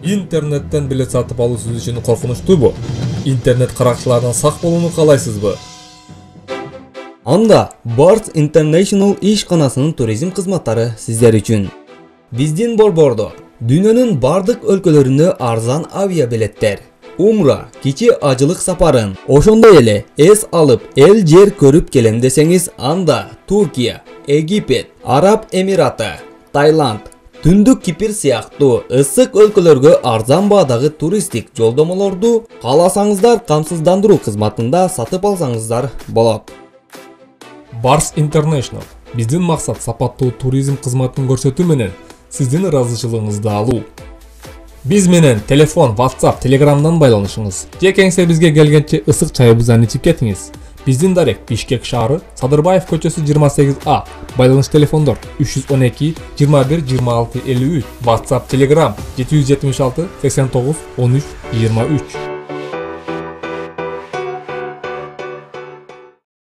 Интернеттен билет сатып алуу сиз үчүн коркунучтуубу? Интернет каракчыларынан сак болууну каалайсызбы? Анда Barts International ишканасынын туризм кызматтары сиздер үчүн. Биздин борбордо дүйнөнүн бардык өлкөлөрүнө арзан авиабилеттер, умра, кичи ажылык сапарын, ошондой эле эс алып эл жер көрүп келем десеңиз, анда Туркия, Египет, Араб Эмираты, Таиланд, Түндүк Кипр сыяктуу ысык өлкөлөргө арзан баадагы туристтик жолдомолорду кааласаңыздар камсыздандыруу кызматында сатып алсаңыздар болот. Barts International биздин максат сапаттуу туризм кызматын көрсөтүү менен сиздин ыраазычылыгыңызды алуу. Биз менен телефон, WhatsApp, Telegram'дан байланышыңыз. Же кеңсе бизге келгенче ысык чайыбыздан ичип кетиңиз. Биздин дарек Бишкек шаары, Садырбаев көчөсү 28А. Байланыш телефондор 312 21 26 53. WhatsApp, Telegram 776 89 13 23.